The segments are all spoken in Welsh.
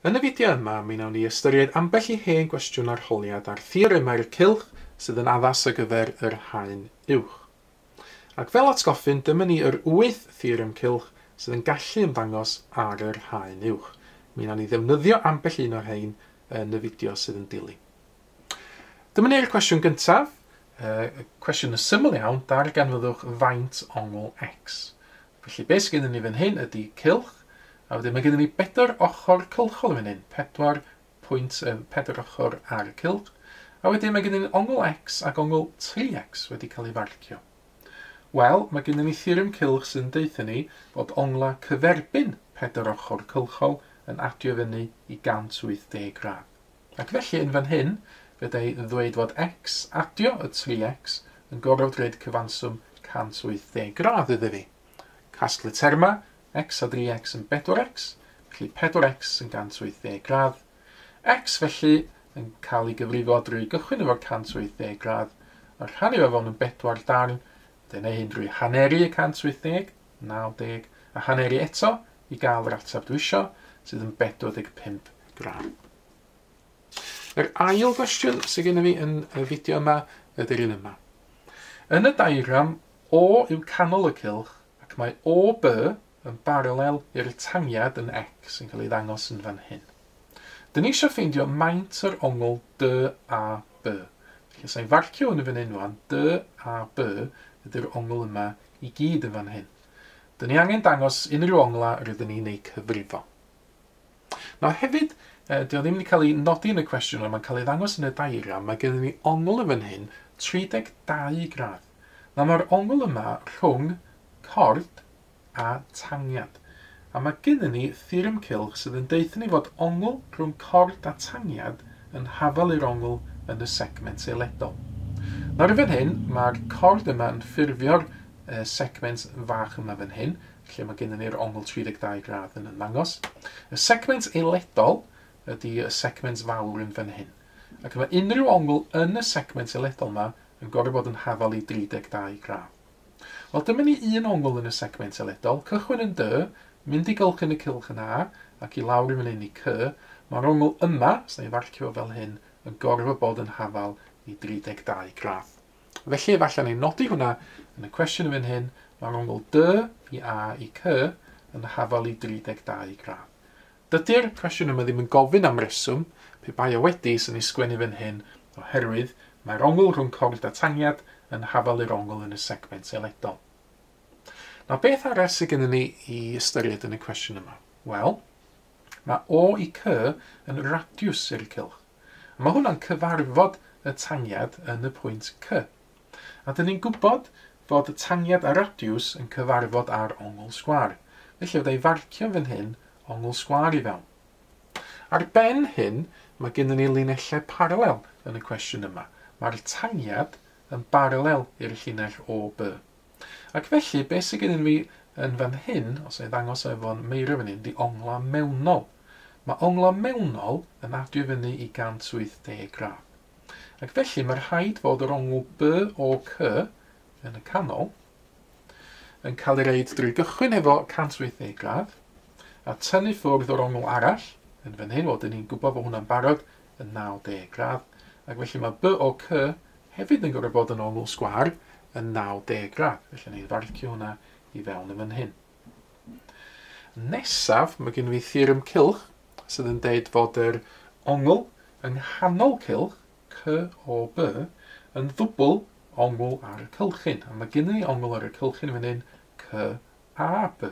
Yn y fideo yma, mi wnawn ni ystyried ambell i hen gwestiwn arholiad ar theoremau'r cylch sydd yn addas ar gyfer yr haen uwch. Ac fel atgoffyn, dyma ni yr 8 theorem cylch sydd yn gallu ymddangos ar yr haen uwch. Mi wnawn ni ddefnyddio ambell un o'r rhain yn y fideo sydd yn dilyn. Dyma ni'r cwestiwn gyntaf. Y cwestiwn yn syml iawn, darganfyddwch faint ongl x. Felly beth sydd gennym ni fan hyn ydy cylch, a wedyn mae gennym ni 4 ochr cylchol yn fan hyn, 4 pwynt, 4 ochr ar y cylch, a wedyn mae gennym ni ongl x ac ongl 3x wedi cael ei farcio. Wel, mae gennym ni theorem cylch sydd yn deutha ni bod ongla cyferbyn 4 ochr cylchol yn adio fyny i 180 gradd. Ac felly yn fan hyn, fedra i ddweud fod x adio y 3x yn gorfod rhoid cyfanswm 180 gradd iddo fi. Casglu terma, x a 3x yn 4x, felly 4x yn 180 gradd. X felly yn cael ei gyfrifo drwy gychwyn efo'r 180 gradd, a rhannu fo fewn yn 4 darn, dyna hyn drwy haneru y 180, 90, a haneru eto i gael yr ateb dwi isio, sydd yn 45 gradd. Yr ail gwestiwn sydd gennym fi yn y fideo yma ydy'r un yma. Yn y diagram, O yw canol y cylch, ac mae OB yn baralel i'r tangiad yn X sy'n cael ei ddangos yn fan hyn. Dyn ni eisiau ffeindio maint yr ongl DAB. Felly, os i'n farcio hwn yn fan hyn rwan, DAB ydy'r ongl yma i gyd yn fan hyn. Dyn ni angen dangos unrhyw ongla rydyn ni'n ei cyfrifo. Nawr hefyd, dio ddim wedi cael ei nodi yn y cwestiwn, ond mae'n cael ei ddangos yn y diagram, mae gennym ni ongl yn fan hyn 32 gradd. Nawr mae'r ongl yma rhwng cord a tangiad. A mae gennym ni theorem cylch sydd yn deutha ni fod ongl rhwng cord a tangiad yn hafal i'r ongl yn y segment eiledol. Nawr yn fan hyn, mae'r cord yma yn ffurfio'r segment fach yma fan hyn, lle mae gennym ni'r ongl 32 gradd yn ymddangos. Y segment eiledol ydy y segment fawr yn fan hyn. Ac mae unrhyw ongl yn y segment eiledol yma yn gorfod bod yn hafal i 32 gradd. Wel, dyma ni un ongl yn y segment eiledol, cychwyn yn D, mynd i gylchyn y cylch yn A, ac i lawr i fan hyn i C. Mae'r ongl yma, os na i farcio fel hyn, yn gorfod bod yn hafal i 32 gradd. Felly, efallai ni nodi hwnna yn y cwestiwn yn fan hyn, mae'r ongl D i A i C yn hafal i 32 gradd. Dydy'r cwestiwn yma ddim yn gofyn am reswm, pe bai o wedi, sy'n ei sgwennu fan hyn, oherwydd mae'r ongl rhwng cord a tangiad yn hafal i'r ongl yn y segment eiledol. Nawr, beth arall sydd gennym ni i ystyried yn y cwestiwn yma? Wel, mae O i C yn radiws i'r cylch. A mae hwnna'n cyfarfod y tangiad yn y pwynt C. A dyn ni'n gwybod fod y tangiad a radiws yn cyfarfod ar ongl sgwâr. Felly, fydda i farcio fan hyn ongl sgwâr i fewn. Ar ben hyn, mae gennym ni linellau paralel yn y cwestiwn yma. Mae'r tangiad yn baralel i'r llinell OB. Ac felly, beth sydd gennym fi yn fan hyn, os ei ddangos efo'n meiro fan hyn, di ongla mewnol. Mae ongla mewnol yn adio fyny i 180 gradd. Ac felly, mae rhaid fod yr ongl BOC yn y canol yn cael ei reid drwy gychwyn efo 180 gradd a tynnu ffwrdd o'r ongl arall yn fan hyn, wel, dyn ni'n gwybod bod hwnna'n barod yn 90 gradd, ac felly mae BOC hefyd yn gorfod bod yn ongl sgwâr yn 90 gradd. Felly ni farcio hwnna i fewn yn fan hyn. Nesaf, mae gen i fi theorem cylch sydd yn deud fod yr ongl yng nghanol cylch, COB, yn ddwbl ongl ar y cylchyn. A mae gen i ongl ar y cylchyn fan hyn, CAB.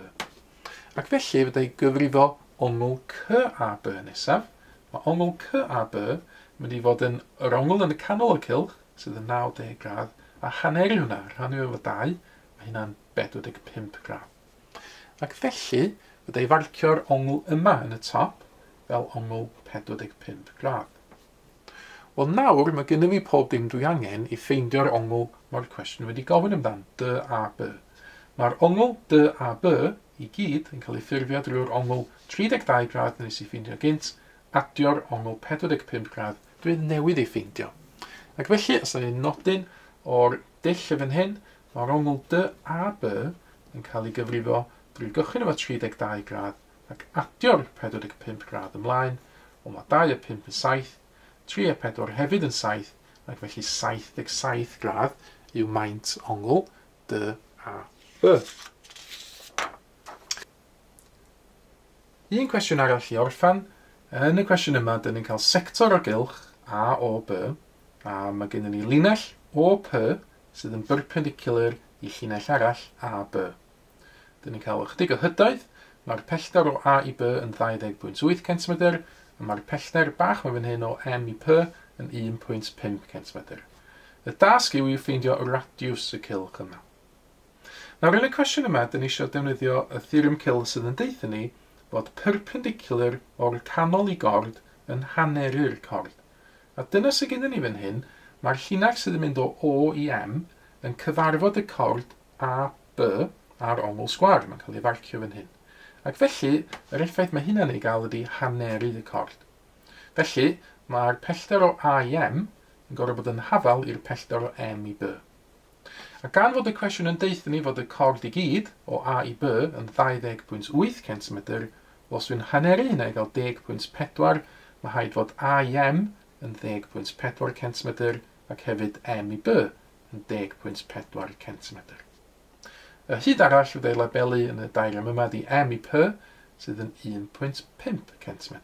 Ac felly, fydda i gyfrifo ongl CAB nesaf. Mae ongl CAB yn mynd i fod yn yr ongl yn y canol y cylch, sydd yn 90 gradd, a haneru hwnna, rhannu efo 2, mae hynna'n 45 gradd. Ac felly, fydda i farcio'r ongl yma yn y top fel ongl 45 gradd. Wel nawr, mae gennym fi pob dim dwi angen i ffeindio'r ongl mae'r cwestiwn wedi gofyn amdan, DAB. Mae'r ongl DAB i gyd yn cael ei ffurfio drwy'r ongl 32 gradd nes i ffeindio gynt, adio'r ongl 45 gradd dwi newydd ei ffeindio. Ac felly, os yna nodyn o'r dull y fan hyn, mae'r ongl DAB yn cael ei gyfrifo drwy gychwyn efo 32 gradd ac adio'r 45 gradd ymlaen, wel mae 2 a 5 yn 7, 3 a 4 hefyd yn 7, ac felly 77 gradd yw maint ongl DAB. Un cwestiwn arall i orffan. Yn y cwestiwn yma, dyn ni'n cael sector o gylch AOB, a mae gennym ni linell OP sydd yn perpendicular i llinell arall AB. Dyn ni'n cael ychydig o hydoedd. Mae'r pellter o A i B yn 20.8 cm, a mae'r pellter bach mae fan hyn o M i P yn 1.5 cm. Y dasg yw i ffeindio radiws y cylch yma. Nawr, yn y cwestiwn yma, dyn ni eisiau defnyddio y theorem cylch sydd yn deutha ni fod perpendicular o'r canol i gord yn haneru'r cord. A dyna sydd gennym ni fan hyn, mae'r llinell sydd yn mynd o O i M yn cyfarfod y cord AB ar ongl sgwâr. Mae'n cael ei farcio fan hyn. Ac felly, yr effaith mae hynna'n ei gael ydy haneru y cord. Felly, mae'r pellter o A i M yn gorfod bod yn hafal i'r pellter o M i B. A gan fod y cwestiwn yn deutha ni fod y cord i gyd o A i B yn 20.8 cm, wel, os dwi'n haneru hynna i gael 10.4, mae rhaid fod A i M yn 10.4 cm ac hefyd M i B yn 10.4 cm. Y hyd arall fydd ei labelu yn y diagram yma ydy M i P sydd yn 1.5 cm.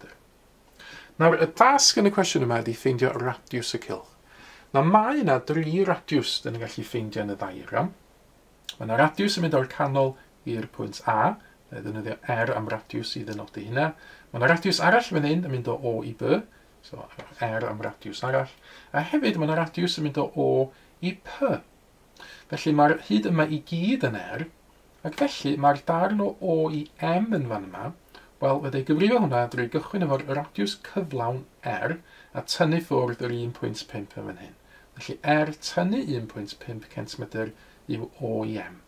Nawr, y dasg yn y cwestiwn yma ydy ffeindio radiws y cylch. Nawr, mae yna dri radiws dyn ni'n gallu ffeindio yn y diagram. Mae yna radiws yn mynd o'r canol i'r pwynt A, neu ddefnyddio R am radiws i ddynodi hynna. Mae yna radiws arall fan hyn yn mynd o O i B, so R am radiws arall. A hefyd mae yna radiws yn mynd o O i P. Felly mae'r hyd yma i gyd yn R, ac felly mae'r darn o O i M yn fan yma, wel, fydda i gyfrifo hwnna drwy gychwyn efo'r radiws cyflawn R a tynnu ffwrdd yr 1.5 yn fan hyn. Felly R tynnu 1.5 cm yw O i M.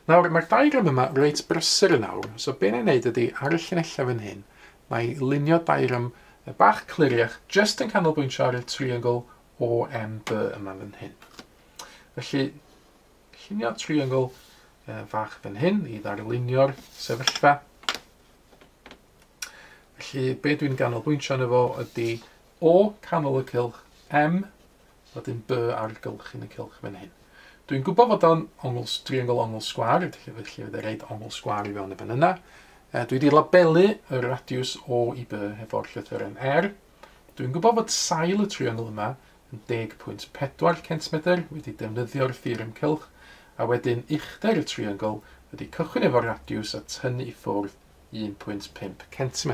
Nawr, mae'r diagram yma reit brysur yn awr, so be na i wneud ydy ar y llinellau fan hyn, na i lunio diagram bach cliriach, jyst yn canolbwyntio ar y triongl OMB yma fan hyn. Felly, llunio triongl fach fan hyn i ddarlunio'r sefyllfa. Felly, be dwi'n ganolbwyntio arno fo ydy O canol y cylch, M, wedyn B ar gylchyn y cylch fan hyn. Dwi'n gwybod fod o'n ongl, triongl ongl sgwâr, felly fydd rhaid ongl sgwâr i fewn y fan yna. Dwi wedi labelu y radiws O i B hefo'r llythyren R. Dwi'n gwybod fod sail y triongl yma yn 10.4 cm, wedi defnyddio'r theorem cylch, a wedyn uchder y triongl wedi cychwyn efo'r radiws a tynnu i ffwrdd 1.5 cm.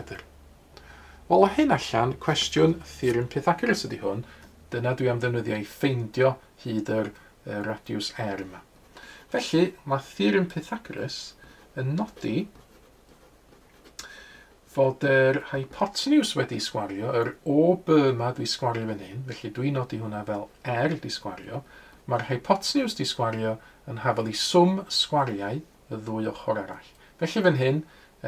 Wel, o hyn allan, cwestiwn theorem Pythagoras ydy hwn. Dyna dwi am ddefnyddio i ffeindio hyd yr radiws R yma. Felly, mae theorem Pythagoras yn nodi fod yr hypotenws wedi sgwario, yr OB yma dwi sgwario fan hyn, felly dwi'n nodi hwnna fel R di sgwario. Mae'r hypotenws di sgwario yn hafal i swm sgwariau y ddwy ochr arall. Felly fan hyn,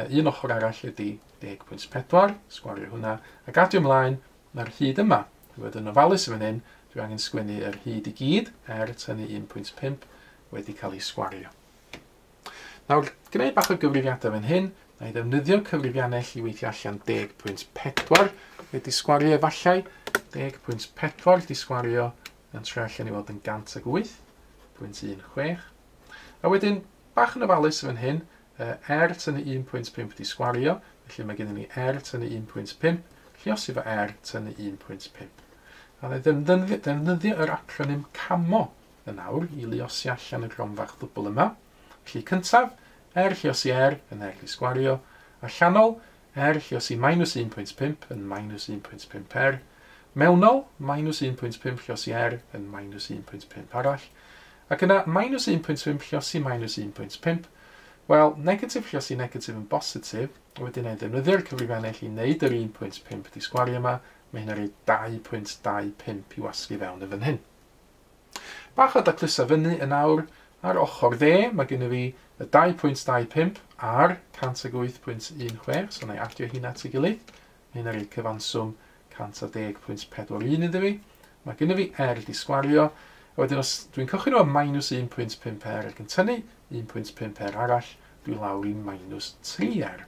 un ochr arall ydy 10.4, sgwario hwnna, ac adio ymlaen, mae'r hyd yma. Dwi'n fod yn ofalus fan hyn, dwi angen sgwennu yr hyd i gyd, R tynnu 1.5, wedi cael ei sgwario. Nawr, gwneud bach o gyfrifiadau fan hyn, na i ddefnyddio cyfrifiannell i weithio allan 10.4 wedi sgwario efallai, 10.4 di sgwario yn troi allan i fod yn 108.16. A wedyn, bach yn ofalus fan hyn, R tynnu 1.5 di sgwario, felly mae gennym ni R tynnu 1.5, lluosi fo R tynnu 1.5. A na i ddefnyddio yr acronym CAMO yn awr i luosi allan y gronfach ddwbl yma. Felly cyntaf, R lluosi R yn R di sgwario, allanol, R lluosi minus 1.5 yn minus 1.5 R, mewnol, minus 1.5 lluosi R yn minus 1.5 arall, ac yna minus 1.5 lluosi minus 1.5, wel, negatif lluosi negatif yn bositif, wedyn ei ddefnyddio'r cyfrifennell i wneud yr 1.5 di sgwario yma, mae hynna'n rhoi 2.25 i wasgu fewn yn fan hyn. Bach o daclusa fyny yn awr, ar ochr dde, mae gennym fi y 2.25 ar 108.16, so na i adio hynna at ei gilydd. Mae hynna'n rhoi cyfanswm 110.41 iddo fi. Mae gennym fi R di sgwario, a wedyn os dwi'n cychwyn efo minus 1.5 R ac yn tynnu 1.5 R arall, dwi lawr i minus 3R.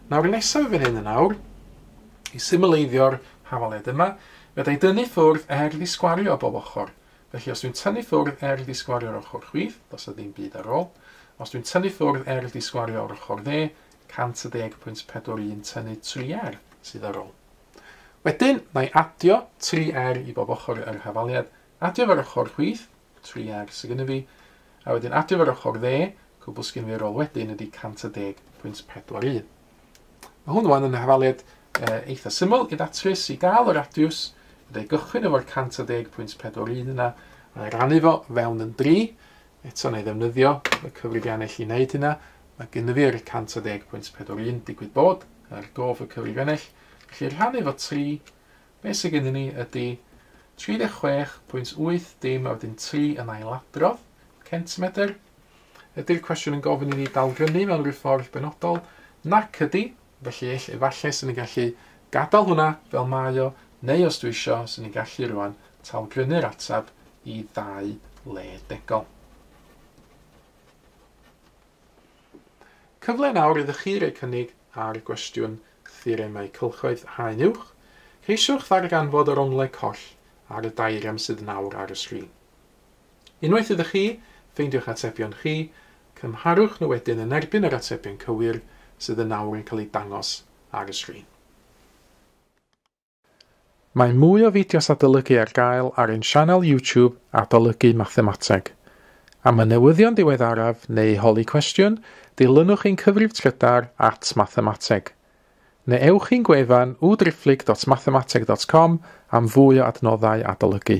Nawr nesaf fan hyn yn awr, i symleiddio'r hafaliad yma, fedra i dynnu ffwrdd r ddisgwario o bob ochr. Felly os dwi'n tynnu ffwrdd r ddisgwario o'r ochr chwith, does 'na ddim byd ar ôl. Os dwi'n tynnu ffwrdd r ddisgwario o'r ochr dde, 110.41 tynnu 3r sydd ar ôl. Wedyn, na i adio 3r i bob ochr yr hafaliad. Adio fo'r ochr chwith, 3r sydd gennym fi, a wedyn adio fo'r ochr dde, cwbl sgyn fi ar ôl wedyn ydy 110.41. Mae hwn wan yn hafaliad eitha syml i ddatrys. I gael y radiws, fydda i gychwyn efo'r 110.41 yna, a rannu fo fewn yn 3. Eto na i ddefnyddio y cyfrifiannell i wneud hynna. Mae gynnu fi'r 110.41 digwydd bod ar gof y cyfrifiannell. Felly rhannu fo 3, beth sydd gennym ni ydy 36.8 dim a wedyn 3 yn ailadrodd centimetr. Ydy'r cwestiwn yn gofyn i ni dalgrynu mewn rhyw ffordd benodol? Nac ydy, felly efallai sy'n ni'n gallu gadael hwnna fel mae o, neu os dwi isio, sy'n ni'n gallu rwan talgrynu'r ateb i 2 le degol. Cyfle nawr iddo chi roi cynnig ar gwestiwn theoremau cylchoedd haen uwch. Ceisiwch ddarganfod yr onglau coll ar y diagram sydd nawr ar y sgrin. Unwaith ydych chi, ffeindiwch atebion chi, cymharwch nhw wedyn yn erbyn yr atebion cywir sydd yn nawr yn cael eu dangos ar y sgrin. Mae mwy o fideos adolygu ar gael ar ein sianel YouTube Adolygu Mathemateg. Am y newyddion diweddaraf neu holi cwestiwn, dilynwch ein cyfrif trydar @mathemateg. Neu ewch i'n gwefan www.mathemateg.com am fwy o adnoddau adolygu.